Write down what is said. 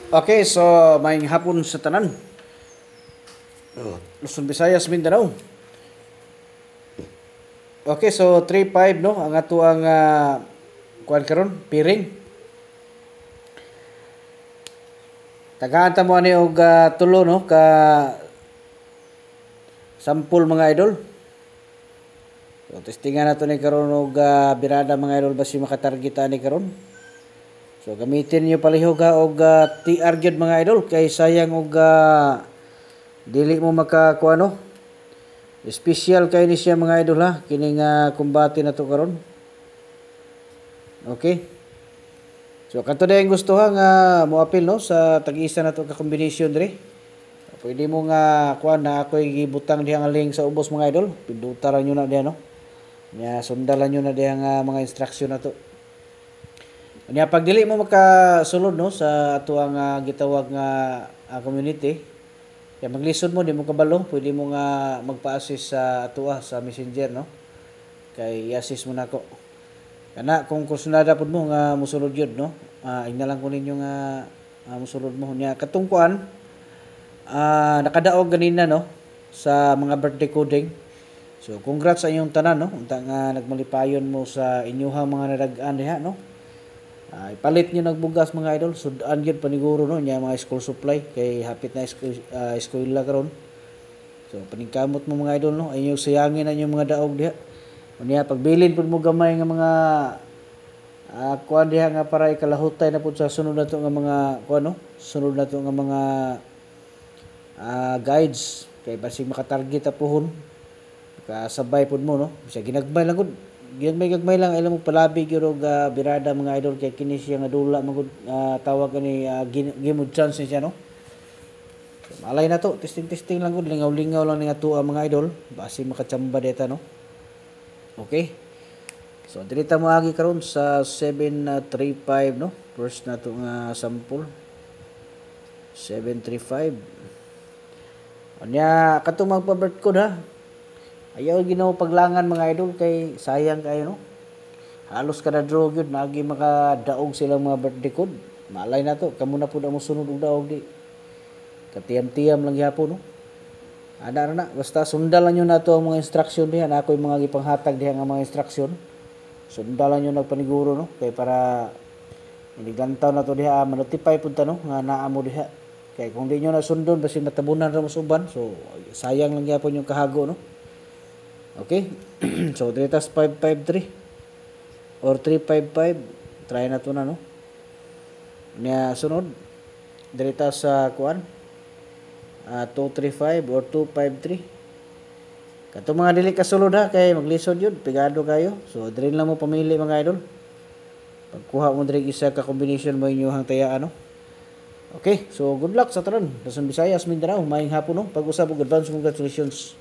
Okay, so maayong hapon sa tanan. Luzon, Visayas, Mindanao. Okay, so 3-5, no, ang ato ang kuan karon, piring. Tagaan ta mo ani og tulo, no, ka sampol, mga idol. So testingan nato ni karon og birada, mga idol, basi makatarget ani karon. So gamitin niyo palihog ha og TR gyud, mga idol, kay sayang og dili mo makakuha, no. Special kay ni siya, mga idol, ha, kining kumbate na to karon. Okay. So kadto dayang gusto ha nga moapil, no, sa tag-isa na to ka combination diri. Pwede mo nga kuan na ako'y gibutang diha nga link sa ubos, mga idol. Pinduta ra nyo na diha, no. Nya sundalan nyo na diha nga mga instruction na to. Nya pag dili mo makasulod, no, sa ato ang gitawag nga community, ya maglisod mo, di mo kabalo, pwede mo nga magpa-assist sa atoa sa Messenger, no. Kay i-assist mo nako. Kana kung kursunada pud mo nga mosulod gyud, no. Ingna lang ko ninyo nga mosulod mo nya katong kuan nakadaog ganina, no, sa mga birthday coding. So congrats sa inyong tanan, no. Unta nga nagmalipayon mo sa inyuhang mga nadag-an diha, no. Ipalit niyo nagbugas, mga idol, sudan gyud paniguro, no, nya mga school supply kay hapit na eskwela karon. So paningkamot mo, mga idol, no, inyo sayangin ang inyong mga daog diha. Unya pagbilin pud mo gamay nga mga kuan diha nga para ikalahutay na pud sa sunod nato nga mga kuan, no, sunod nato nga mga guides kay basig makatarget ta puhon. Kasabay pud mo, no. Bisag ginagmay lang gud. Ginagmay gagmay lang alam mo palabi gyud og birada, mga idol, kay kini siya nga dula magud tawag ani game of chance ni siya, no. So, malay na to, testing testing lang gud, lingaw-lingaw lang ni ato mga idol, basi makachamba deta, no. Okay. So diri ta moagi karon sa 735, no. First na to nga sample. 735. Unya katong magpa-birth code ha. Ayaw Ginoo paglangan, mga idol, kay sayang kayo, no. Halos kada draw gyud naagi makadaog silang mga birthday code. Malay na to, kamo na pud ang mosunod og daog di. Katiyam-tiyam lang gyapon, no. Ana ra na, basta sundalan nyo na to ang mga instruction diha na ako'y mga gipanghatag diha nga mga instruction. Sundalan nyo nagpaniguro, no, kay para iniglantaw na to diha, manotify pud ta, no, nga naa mo diha. Kay kung di nyo na sundon basi matabunan ra mo sa uban, so sayang lang gyapon yung kahago, no. Okay? So diri tas 553 or 355, try na to na, no. Nya sunod diri ta sa kuan 235 or 253. Kato mga dili kasulod ha kay maglisod yun, pigado kayo. So diri lang mo pamili, mga idol. Pagkuha mo diri isa ka combination mo inyong tayaan, no. Okay, so good luck sa tanan. Luzon, Visayas, Mindanao, maayong hapon, no. Pag-usab og advance congratulations.